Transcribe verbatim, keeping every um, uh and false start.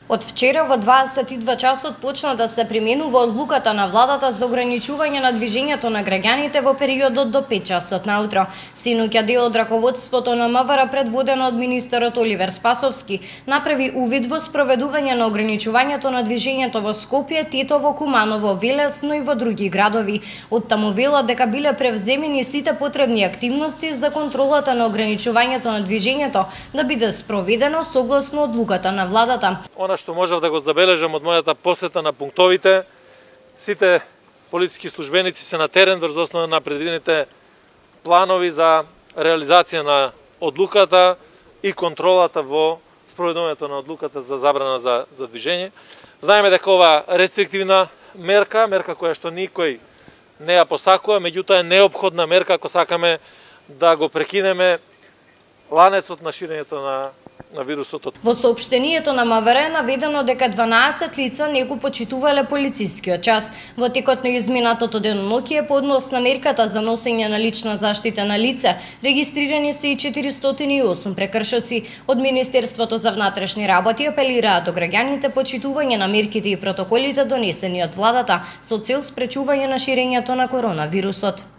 Од вчера во дваесет и два часот почна да се применува одлуката на владата за ограничување на движењето на граѓаните во периодот до пет часот наутро. Синоќа дел од раководството на МВР, предводено од министерот Оливер Спасовски, направи увид во спроведување на ограничувањето на движењето во Скопје, Тетово, Куманово, Велес, но и во други градови. Оттаму вела дека биле превземени сите потребни активности за контролата на ограничувањето на движењето да биде спроведено согласно одлуката на владата. Она што можев да го забележам од мојата посета на пунктовите, сите полициски службеници се на терен врз основа на предвидените планови за реализација на одлуката и контролата во спроведувањето на одлуката за забрана за, за движење. Знаеме дека ова рестриктивна мерка, мерка која што никој не ја посакува, меѓутоа е неопходна мерка ако сакаме да го прекинеме ланецот на ширењето на на вирусот. Во соопштението на МВР е наведено дека дванаесет лица не го почитувале полицискиот час. Во текот на изминатото деноноќие по однос на мерката за носење на лична заштита на лице, регистрирани се и четиристотини и осум прекршоци. Од Министерството за внатрешни работи апелираат до граѓаните почитување на мерките и протоколите донесени од владата со цел спречување на ширењето на коронавирусот.